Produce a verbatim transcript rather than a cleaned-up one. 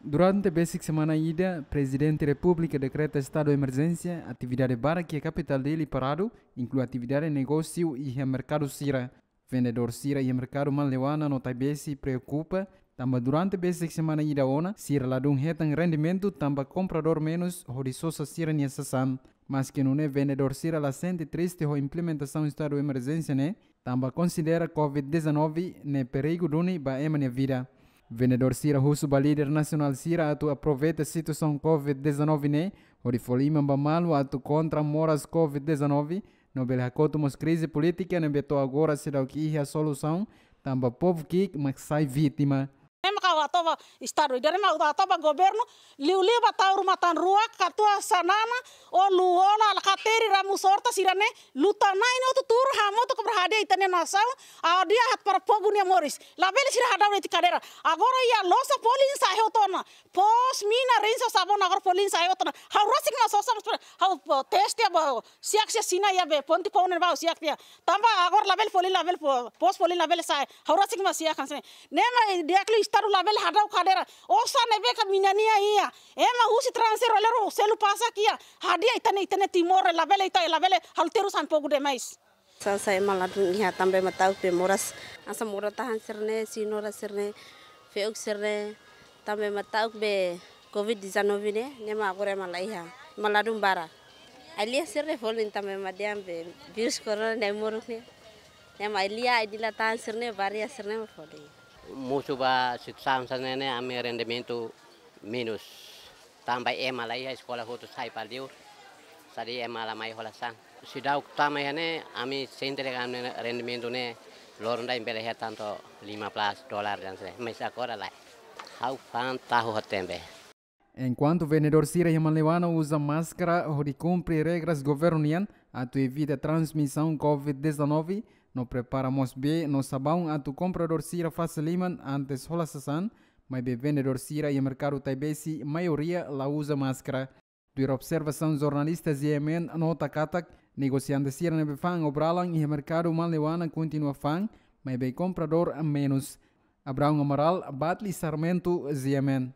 Durante besik semana ida, Prezidente Repúblika dekreta estadu emerjénsia, atividade barak iha kapitál Dili paradu, inklui atividade negósiu iha merkadu sira. Vendedór sira iha merkadu Manleuana no Taibesi preokupa, tanba durante besik semana ida ona, sira ladún hetan rendimentu tanba kompradór menus hodi sosa sira-nia sasán. Maske nune'e, vendedór sira la sente triste ho implementasaun estadu emerjénsia ne'e, tanba konsidera covid dezanove ne'e perigu duni ba ema nia vida. Vendedór sira husu ba líder nasionál sira atu aproveita situasaun covid dezanove ne'e, hodi fó liman ba malu atu kontra moras covid dezanove, no bele hakotu mós krize polítika ne'ebé to'o agora seidauk iha solusaun, tanba povu ki'ik mak sai vítima. Ema ka atu ba estadu, ida ema atu ba governu, liuliu ba tau ruma tan rua, katuas sanana, o lu ola, la kateri Ramos Horta sira-ne'e, luta nai no tu turu hamutuk para hadi'a ita-nia nasaun, hadi'a haat para povu nia moris. Labele sira hadau de'it kadeira. Agora iha loja folin sa'e hotu ona. Pos, mina, Rinso, sabun agora folin sa'e hotu ona. Ha'u rasik mak sosa, ha'u, eh, teste ba, siak siak sina iha be, ponte pone ba, siak tiha. Tanba agora labele folin, labele fo-, pos folin labele sa'e. Ha'u rasik mak siak kan se. Ne'e mak di'ak liu estadu labele hadau kadeira. Osan ne'ebé ka mina nia iha. Ema husi estranjeiru, lero selu pasak iha. Hadi'a ita-nia, ita-nia Timor, labele ita, labele halo terus han povu demais. Sasán ema ladún iha tanba ema ta'uk be moras. Hanesan moras-tahan sira-ne'e, señora sira-ne'e, fe'uk sira-ne'e, tanba ema ta'uk be covid dezanove ne'e, ne'e mak agora ema la iha, ema ladún barak. Ai-lia sira-ne'e folin tanba ema dehan be vírus corona ne'e moruk ne'e. Ne'e mak ai-lia, ai-dila-tahan sira-ne'e, baria sira-ne'e mak folin. Mosu ba situasaun hanesan ne'e ne'e, ami rendimentu menus. Tanba ema la iha, eskola hotu sai para liur. Sadi ema la mai hola sasán. Seidauk tama iha ne'e, ami sente dehan ami-nia rendimentu ne'e loron ida bele hetan to'o lima belas dolar dehan se. Mais agora lae. Ha'u fa'an tahu ho tembe. Enkuantu vendedór sira iha Manleuana uza máskara hodi kumpre regras governu nian atu evita transmisaun covid dezanove, no prepara mós bee no sabaun atu kompradór sira fase liman antes hola sasán, maibé vendedór sira iha merkadu Taibesi maioria la uza máskara. Tuir observasaun jornalista Z M N nota katak, negosiante sira ne'ebé fa'an obralan iha merkadu Manleuana kontinua fa'an, maibé kompradór menus. Abraão Amaral, Batli Sarmento, Z M N.